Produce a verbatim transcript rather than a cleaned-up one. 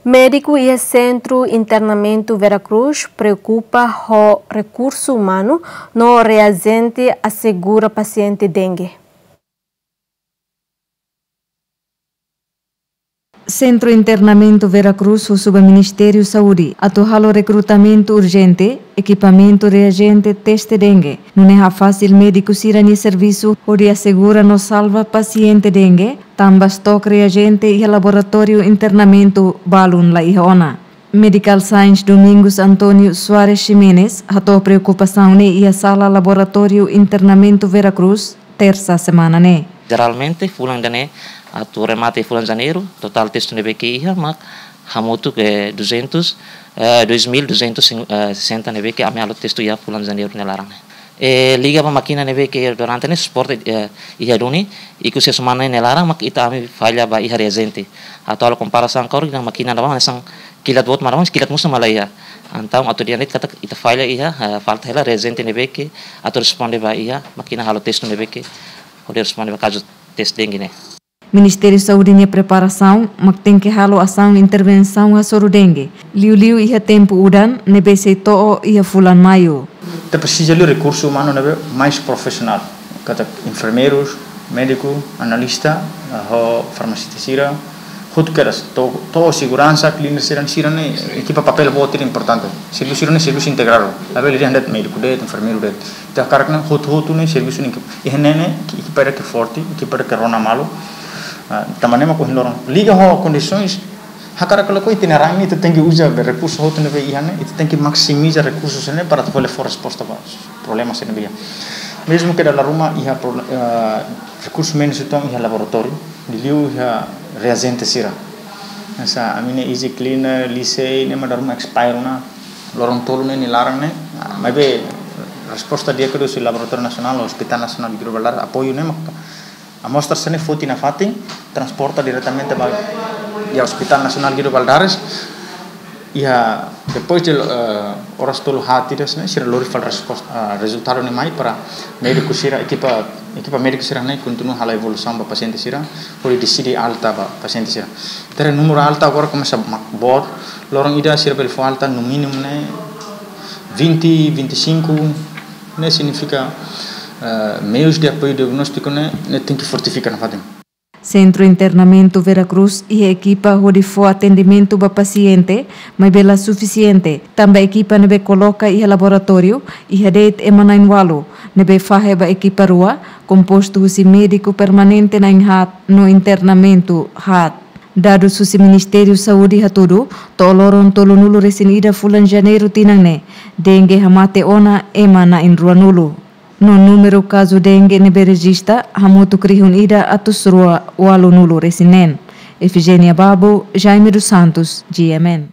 Médiku iha Sentru Internamentu Vera Cruz preokupa ho rekursu umanu no reajente asegura pasiente dengue. Sentru Internamentu Vera Cruz husu ba Ministériu Saúde atu halo rekrutamentu urjente, ekipamentu reajente teste dengue, nune'e hafasil médiku sira-nia servisu hodi asegura no salva pasiente dengue, tanba stok reajente iha laboratóriu internamentu balun la iha ona. Medical Science Domingos António Soares Ximenes hato'o preokupasaun ne'e iha sala laboratóriu internamentu Vera Cruz, tersa semana ne'e. Jeralmente, fulan ida-ne'e, atu remata fulan Janeiru, totál teste ne'ebé ke iha, mak hamutuk duzentos, eh, dois mil duzentos e sessenta ne'ebé ke ami halo teste iha fulan Janeiru nia laran ne'e. Eh, liga ba mákina ne'ebé ke durante ne'e suporta, eh, iha duni, ikus iha semana ne'e nia laran, mak ita ami falla ba iha reajente. Atu halo komparasaun agora, mákina ne'ebá hanesan kilat boot, maibé kilat mós mak la iha. Entaun, atu dehan de'it katak ita falla iha, eh, falta hela reajente ne'ebé ke atu responde ba iha mákina halo teste ne'ebé ke hodi responde ba kazu teste dengue ne'e. Ministériu Saúde nia preparasaun mak tenke halo asaun intervensaun hasoru dengue, liuliu iha tempu udan ne'ebé sei to'o iha fulan Maiu. Ita presiza liu rekursu umanu ne'ebé mais profisionál, katak enfermeirus, médiku, analista, eh, ho farmasista sira, hotu kedas, to'o, to'o seguransa, cleaner sira, sira-ne'e, ekipa papél boot ida importante. Servisu sira-ne'e servisu integradu. Labele dehan de'it médiku de'it, enfermeiru de'it. Ita hakarak ne'e hotu-hotu ne'e servisu ne'e ekipa. Iha ne'e ne'e, ekipa ida ke forte, ekipa ida ke rona malu. Ah, tanba ne'e mak ohin loron. Liga ho kondisoens, hakarak ka lakohi, ita-nia rain ne'e ita tenke uza be rekursu hotu ne'ebé iha ne'e, ita tenke maksimiza rekursu sira-ne'e para atu bele fó resposta ba problema sira-ne'ebé iha. Mezmu ke dala ruma iha pro-, eh, rekursu menus uitoan iha laboratóriu, liuliu iha reajente sira. Hanesan ami-nia Easy Cleaner, Lisei, ne'e mak dala ruma expire ona, loron tolu ne'e nia laran ne'e. Ah, maibé resposta di'ak husi Laboratóriu Nasionál, Hospital Nasionál Guido Valadares, apoiu ne'e mak amostra sira-ne'e foti nafatin, transporta diretamente ba iha Hospital Nasionál Guido Valadares. Iha depois de, eh, oras tolu haat ida ne'e, sira lori fali resposta, eh, rezultadu ne'e mai para médiku sira, ekipa, ekipa médiku sira-ne'e kontinua halo avaliasaun ba pasiente sira, hodi deside alta ba pasiente sira. Ita haree númeru alta agora komesa mak boot, loron ida sira bele fó alta no mínimu ne'e vinte, vinte e cinco, ne'e signifika, eh, meius de apoiu diagnóstiku ne'e, ne'e tenke fortifika nafatin. Sentru Internamentu Vera Cruz iha ekipa hodi fó atendimentu ba pasiente, maibé la sufisiente, tanba ekipa ne'ebé koloka iha laboratóriu iha de'it ema na'in-ualu, ne'ebé fahe ba ekipa rua, kompostu husi médiku permanente na'in-haat no internamentu haat. Dadus husi Ministériu Saúde hatudu, to'o loron tolunulu-resin-ida fulan Janeiru tinan ne'e, dengue hamate ona ema na'in-ruanulu. No númeru kazu dengue ne'ebé rejista hamutuk rihun ida atus rua ualunulu-resin-neen. Efigénia Babo, Jaime dos Santos, G M N.